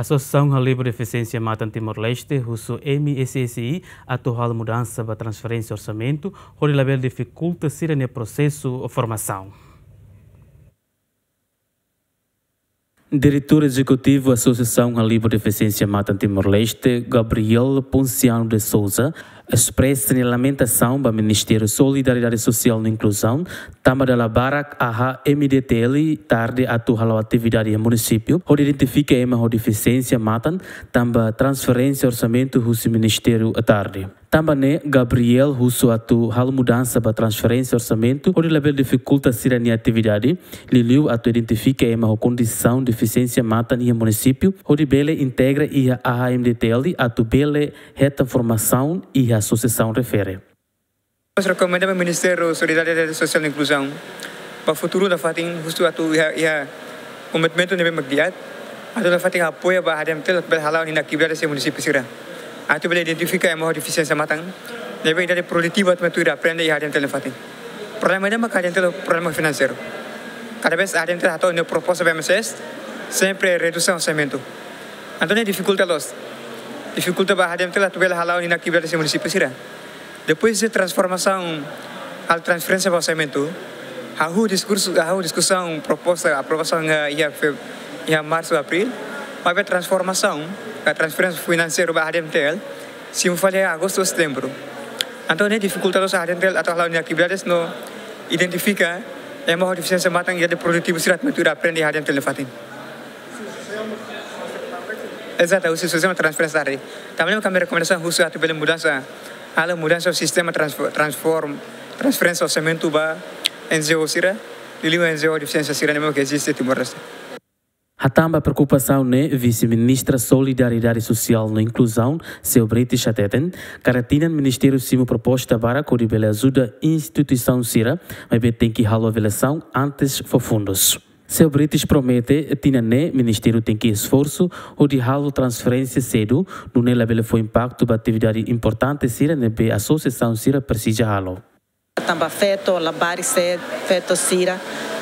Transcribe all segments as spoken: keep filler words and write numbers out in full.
Asosiasaun Halibur Defisiénsia Matan Timor-Leste husu M S S I atu halo mudansa ba transferénsia orsamentu, hodi labele difikulta sira-nia prosesu formasaun. Diretór Ezekutivu Asosiasaun Halibur Defisiénsia Matan Timor-Leste, Gabriel Ponciano de Sousa, espresa nia lamentasaun ba Ministériu Solidariedade Sosiál no Inkluzaun, tanba dala barak A H M D T L tarde atu hala'o atividade iha munisípiu, hodi identifika ema ho defisiénsia matan, tanba transferénsia orsamentu husi ministériu tarde. Tanba ne'e, Gabriel husu atu halo mudansa ba transferénsia orsamentu, hodi labele difikulta sira-nia atividade, liuliu atu identifika ema ho kondisaun defisiénsia matan iha munisípiu, hodi bele integra iha A H M D T L atu bele hetan formasaun iha asosiasaun refere. Mós rekomenda ba Ministériu Solidariedade Sosiál no Inkluzaun, ba futuru nafatin husu atu iha, iha komitmentu ne'ebé mak di'ak, atu nafatin apoia ba A H M D T L atu bele hala'o ninia atividade iha munisípiu sira. Atu bele identifika ema ho defisiénsia matan, ne'ebé idade produtiva atu mai tuir aprende iha A H M D T L nafatin. Problema ida mak A H M D T L, problema finanseiru. Kada vez A H M D T L hato'o ninia proposta ba M S S, sempre redusaun orsamentu. Entaun ne'e difikulta loos. Difikulta ba A H M D T L atu bele hala'o ninia atividade iha munisípiu sira. Depois de transformasaun, halo transferénsia ba orsamentu, hahú diskursu, hahú diskusaun, proposta, aprovasaun iha, iha fe-, iha marsu, abríl, maibé transformasaun, ka transferénsia finanseiru ba A H M D T L, simu fali agostu, setembru. Entaun ne'e difikulta loos A H M D T L atu hala'o ninia atividades no identifika ema ho defisiénsia matan, idade produtiva sira atu mai tuir aprende iha A H M D T L nafatin. Ezatu, husi sistema transferénsia tadi. Tanba ne'e ami rekomendasaun husu atu bele mudansa, halo mudansa sistema transfo-, transform-, transferénsia orsamentu ba N G O sira, liuliu N G O defisiénsia sira ne'ebé ke eziste Timor-Leste. Hatán ba preokupasaun ne'e, Vise-Ministra Solidariedade Sosiál no Inkluzaun, Céu Bretes hateten, kada tinan ministériu simu proposta barak hodi bele ajuda instituisaun sira, maibé tenke halo avaliasaun antes fó fundus. Céu Bretes promete, tinan ne'e ministériu tenke esforsu hodi halo transferénsia sedu, nune'e labele fó impaktu ba atividade importante sira ne'ebé asosiasaun sira presiza halo. Tanba feto, labarik sira, feto sira.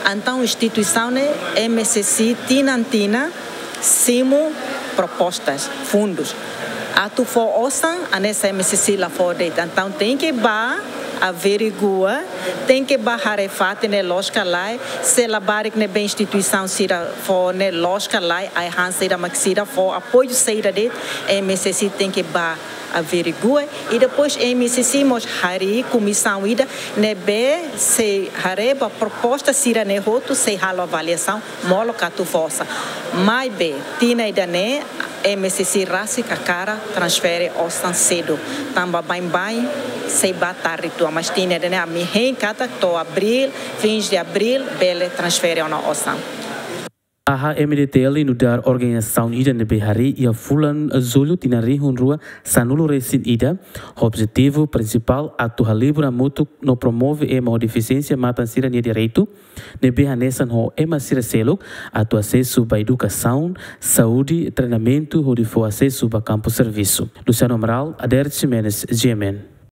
Entaun instituisaun ne'e M S S I tinan-tinan simu propostas, fundus. Atu fó osan, hanesan M S S I la fó de'it. Entaun tenke bá averigua, tenke bá haree fatin ne'e loos ka lae, se labarik ne'ebé instituisaun sira fó ne'e loos ka lae, ai-han saida mak sira fó, apoiu saida de'it, M S S I tenke bá averigua, i depois M S S I mós harii komisaun ida ne'ebé sei haree ba proposta sira-ne'e hotu, sei halo avaliasaun, molok atu fó osan. Maibé, tinan ida-ne'e, M S S I rasik hakarak transfere osan sedu. Tanba baibain sei bá tarde uitoan, mas tinan ida-ne'e ami hein katak to'o abríl, fins de abril, bele transfere ona osan. A H M D T L nu'udar organizasaun ida ne'ebé harii iha fulan Jullu tinan rihun rua sanulu resin ida, ho objetivu prinsipál atu halibur hamutuk no promove ema ho defisiénsia matan sira-nia direitu, ne'ebé hanesan ho ema sira seluk, atu asesu ba edukasaun, saúde, treinamentu hodi fó asesu ba kampu servisu. Luciano Amaral, Adair Ximenes, G M N.